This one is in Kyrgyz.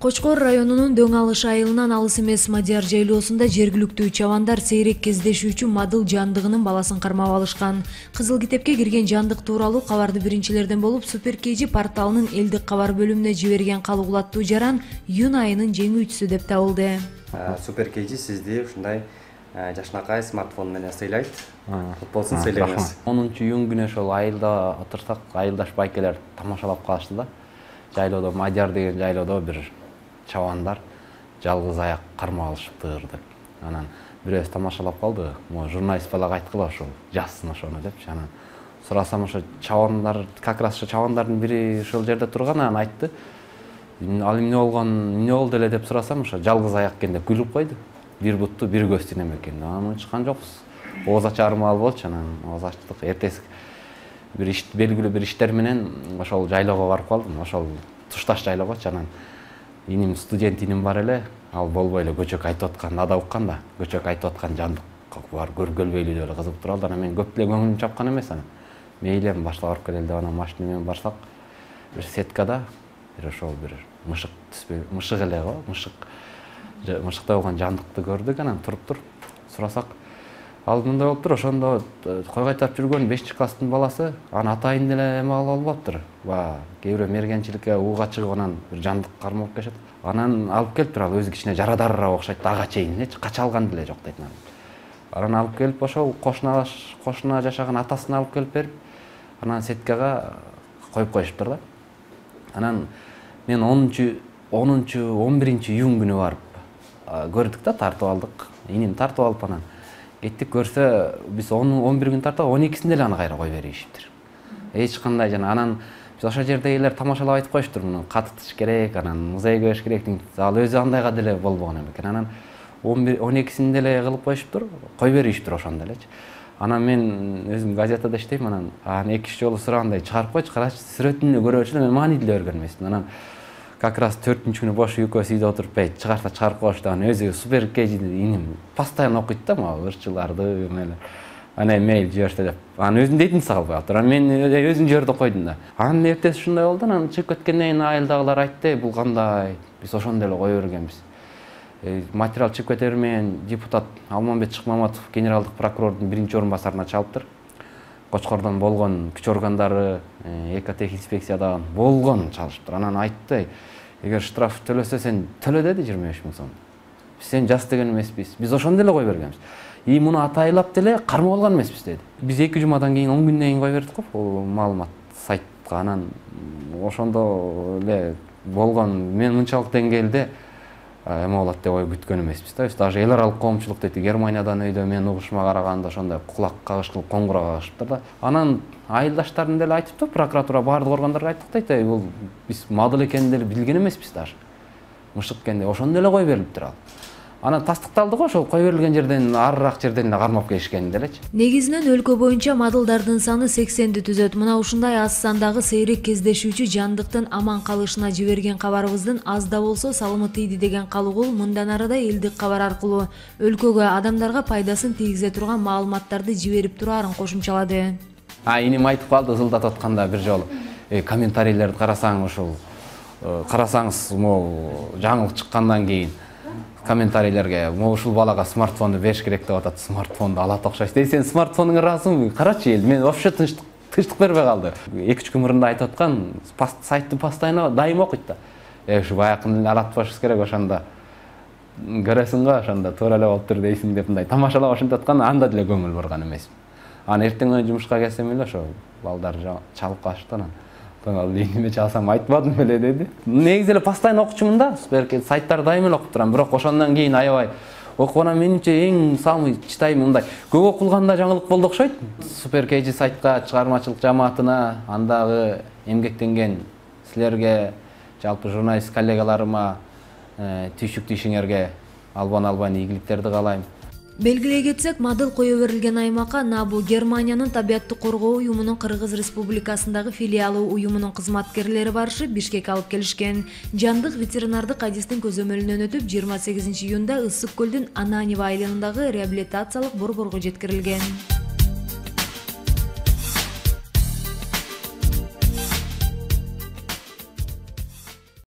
Кочкор районунун Дөң Алыш айылынан алыс эмес Мадияр жайлоосунда жергиликтүү чабандар сейрек кездешүүчү Мадыл жандыгынын баласын кармап алышкан. Кызыл китепке кирген жандык тууралуу кабарды биринчилерден болуп Супер KG порталынын элдик кабар бөлүмүнө жиберген калыгулаттуу жаран июнь айынын жеңүүчүсү деп табылды. Супер KG сизди ушундай жашнакай смартфон менен сыйлайт. Кут болсун, сыйлайбыз. 10-июнь күнү ошол айылда отурсак, айылдаш байкелер тамашалап калышты да. Жайлоодо Мадияр деген жайлоодо бир чабандар жалгыз аяк кармап алышыптыр деп. Анан бирөөбүз тамашалап калды. Могу журналист балага айткыла ошол жазсын ошону депчи. Анан сурасам ошо чабандар, как раз ошо чабандардын бири ошол жерде турган, анан айтты. Ал эмне болгон, эмне болду эле деп сурасам, ошо жалгыз аяк экен деп күлүп койду. Бир бутту, бир көздү неме экен. Анан унчуккан жокпуз. Ооз ачар маал болчу, анан ооз ачтык. Эртеси бир иш, белгилүү бир иштер менен ошол жайлоого барып калдым. Ошол тушташ жайлоогочу. Анан иним, студент иним бар эле, ал болбой эле көчөк айтып аткан, ада уккан да, көчөк айтып аткан жандык бар, көргөлбөйлүү деп эле кызыгып туралды. Анан мен көп эле көңүлүм чапкан эмес анан. Мейли эми баштап барып келели деп анан машина менен барсак, бир сеткада бир ошол бир мышык түспөй, мышык эле го, мышыктай болгон жандыкты көрдүк. Анан туруптур, сурасак, ал мындай болуптур, ошондо кой кайтарып жүргөн 5-класстын баласы, анын атайын деле эме алып албаптыр. Кээ бирөө мергенчиликке ууга чыгып анан бир жандык кармап келишет. Анан алып келиптир, ал өзү кичине жарадарыраак окшойт, ага чейин элечи, кача алган деле жок дейт. Анан алып келип ошол кошуна жашаган атасына алып келип берип, анан сеткага коюп коюшуптур да. Анан мен 11 июнь күнү барып көрдүк да, тартып алдык. Иним тартып алып анан кеттик, көрсө биз 11 күн тартып 12-синде эле аны кайра коюп беришиптир. Эч кандай жана анан биз ошол жердегилер тамашалап айтып коюштур, муну катытыш керек, анан музейге бериш керек дейт. Ал өзү андайга деле болбогон экен. Анан 12-синде эле кылып коюшуптур, коюп беришиптир ошондо элечи. Анан мен өзүм газетада иштейм, анан 2-3 жолу сурагандай чыгарып койчу, карачы сүрөтүн көрөчү эле, мен маани деле берген эмесмин. Анан как раз 4-күнү бош экөөбүз үйдө отуруп чыгарса чыгарып коюшту. Анан өзү Супер KG иним постоянно окуйт да, могу ырчыларды эмелер. Анан мейл жиберсе деп. Анан өзүм дейтин салбай атыр. Анан мен өзүм жиберди койдум да. Анан эртеси ушундай болду. Анан чыгып кеткенден кийин айылдагылар айтты, бул кандай? Биз ошондо эле кое бергенбиз. Материал чыгып кете бермеген депутат Алмамбет Шыкмаматов генералдык прокурордун 1-орун басарына чалыптыр. Кочкордон болгон күч органдары, экотехинспекциядан болгон чалышыптыр. Анан айтты, эгер штраф төлөсө сен төлө деди 25 000 сом. Биз сен жас деген эмеспиз. Биз ошондо эле кое бергенбиз. Муну атайлап деле кармап алган эмеспиз деди. Биз 2 жумадан кийин 10 күндөн кийин кое бердик го, бул маалымат сайтка. Анан ошондо эле болгон, мен мынчалык деңгээлде эме болот деп ой күткөн эмеспиз да. Биз даже эл аралык коомчулук дейт, Германиядан өйдө мен угушума караганда ошондой кулак кагыш кылып коңгуроо кагышыптыр да. Анан айылдаштардын деле айтыптыр, прокуратура баардык органдарга айттык дейт, бул биз Мадыл экенин деле билген эмеспиз даже. Мышык экенди ошондо эле кое берилиптир ал. Анан тастыкталды го, ошол кое берилген жерден арыраак жерден эле кармап келишкени делечи. Негизинен өлкө боюнча мадылдардын саны 80ди түзөт. Мына ушундай аз сандагы сейрек кездешүүчү жандыктын аман калышына жиберген кабарыбыздын аз да болсо салымы тийди деген калыгул мындан арада элдик кабар аркылуу өлкөгө адамдарга пайдасын тийгизе турган маалыматтарды жиберип тураарын кошумчалады. Иним айтып калды ызылдатып атканда бир жолу. Комментарийлерди карасаң, ошол карасаңыз, могу жаңылык чыккандан кийин комментарийлерге могу ушул балага смартфонду бериш керек деп атат, смартфонду алат окшойсуз. Сен смартфонуңа ыраазысыңбы? Карачы эл, мен вообще тынчтык бербей калды. 2-3 күн мурун айтып аткан, сайтты постоянно дайым окуйт да. Ушу баякын эле алат болушубуз керек, ошондо көрөсүң го, ошондо туура эле болуптур дейсиң деп мындай тамашалап ошентип аткан, анда деле көңүл бурган эмесмин. Анан эртең жумушка келсем эле ошо балдар чалып калышты. Анан ал неме чалсам айтпадым эле деди. Негизи эле постоянно окучумун да, сайттарды дайым эле окуп турам, бирок ошондон кийин аябай окуп анан менимче эң самый читайм мындай көп окулганда жаңылык болду окшойт. Супер KG сайтка, чыгармачылык жамаатына, андагы эмгектенген силерге, жалпы журналист коллегаларыма түйшүктүү ишиңерге албан ийгиликтерди каалайм. Белгилей кетсек, Мадыл кое берилген аймакка НАБУ Германиянын табиатты коргоо уюмунун Кыргыз Республикасындагы филиалы уюмунун кызматкерлери барышып Бишкекке алып келишкен. Жандык ветеринардык адистин көзөмөлүнөн өтүп 28 июнда Ысык көлдүн Ананева айылындагы реабилитациялык борборго жеткирилген.